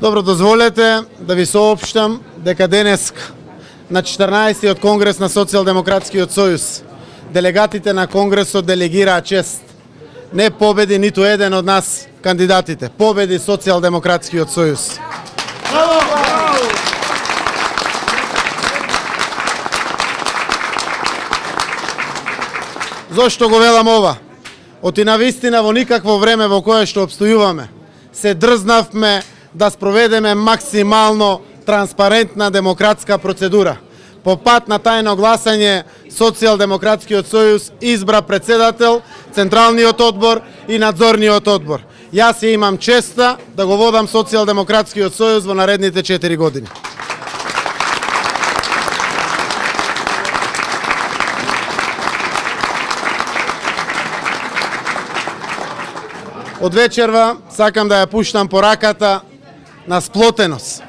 Добро, дозволете да ви соопштам дека денес на 14-тиот конгрес на Социјалдемократскиот сојуз делегатите на конгресот делегираа чест. Не победи ниту еден од нас кандидатите, победи Социјалдемократскиот сојуз. Зошто го велам ова? Оти навистина во никакво време во кое што обстојуваме, се дрзнавме да спроведеме максимално транспарентна демократска процедура. По пат на тајно гласање, Социјалдемократскиот сојуз избра председател, Централниот одбор и Надзорниот одбор. Јас ја имам честа да го водам Социјалдемократскиот сојуз во наредните 4 години. Од вечерва сакам да ја пуштам пораката на сплотеност,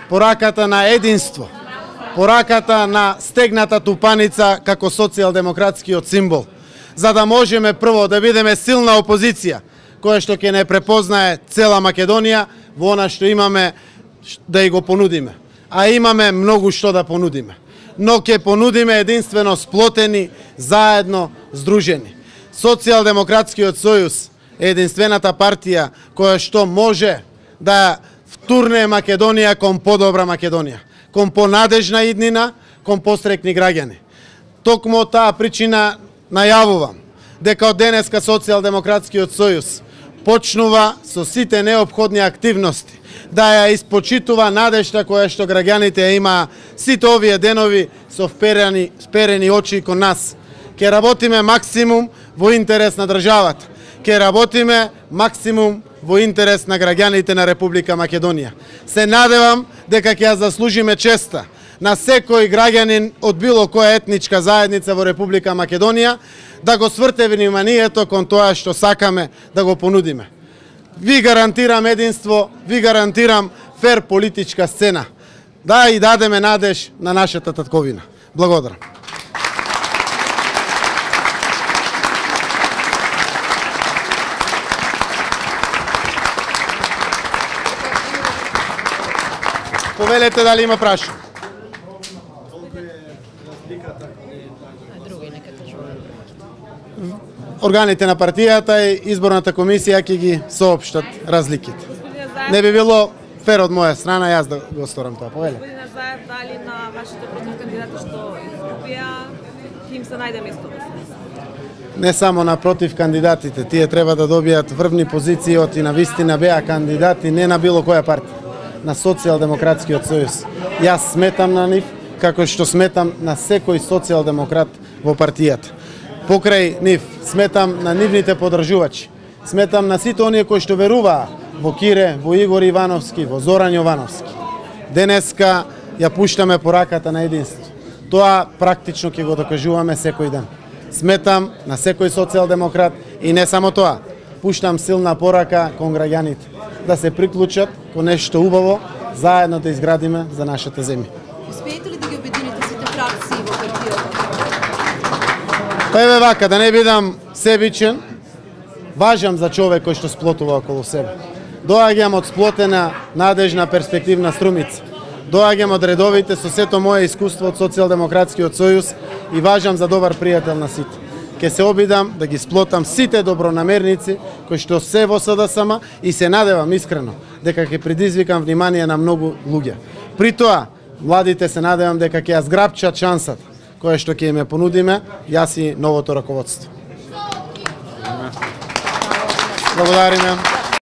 пораката на единство, пораката на стегната тупаница како социјалдемократскиот символ, за да можеме прво да бидеме силна опозиција, која што ќе не препознае цела Македонија во она што имаме да и го понудиме. А имаме многу што да понудиме. Но ќе понудиме единствено сплотени, заедно, здружени. Социјалдемократскиот сојуз е единствената партија која што може да втурне Македонија кон подобра Македонија, кон понадежна иднина, кон пострекни граѓани. Токму таа причина најавувам дека од денеска Социјалдемократскиот сојуз почнува со сите неопходни активности да ја испочитува надежта која што граѓаните ја има сите овие денови со вперени очи кон нас. Ќе работиме максимум во интерес на државата. Ќе работиме максимум во интерес на граѓаните на Република Македонија. Се надевам дека ќе ја заслужиме честа на секој граѓанин од било која етничка заедница во Република Македонија да го сврте вниманието кон тоа што сакаме да го понудиме. Ви гарантирам единство, ви гарантирам фер политичка сцена. Да и дадеме надеж на нашата татковина. Благодарам. Повелете дали има прашање. Органите на партијата и изборната комисија ќе ги соопштат разликите. Не би било фер од моја страна јас да го сторам тоа. Повеле. Господине Заев, дали на вашите против кандидати што изгубија им се најде место? Не само на против кандидатите, тие треба да добијат врвни позиции од и на вистина беа кандидати не на било која партија, на Социјалдемократскиот сојуз. Јас сметам на нив како што сметам на секој социјалдемократ во партијата. Покрај нив сметам на нивните подржувачи. Сметам на сите оние кои што веруваа во Кире, во Игор Ивановски, во Зоран Јовановски. Денеска ја пуштаме пораката на единство. Тоа практично ќе го докажуваме секој ден. Сметам на секој социјалдемократ и не само тоа. Пуштам силна порака кон граѓаните да се приклучат кон нешто убаво, заедно да изградиме за нашата земја. Успеете ли да ги обедините сите фракции во партијата? Па еве вака, да не бидам себичен, важам за човек кој што сплотува околу себе. Доаѓам од сплотена, надежна, перспективна Струмица. Доаѓам од редовите со сето моje искуство од Социјалдемократскиот сојуз и важам за добар пријател на сите. Ке се обидам да ги сплотам сите добронамерници кои што се во СДСМ и се надевам искрено дека ќе предизвикам внимание на многу луѓе. При тоа, младите се надевам дека ќе ја зграпчат шансата која што ќе им ја понудиме јас и новото раководство. Благодариме.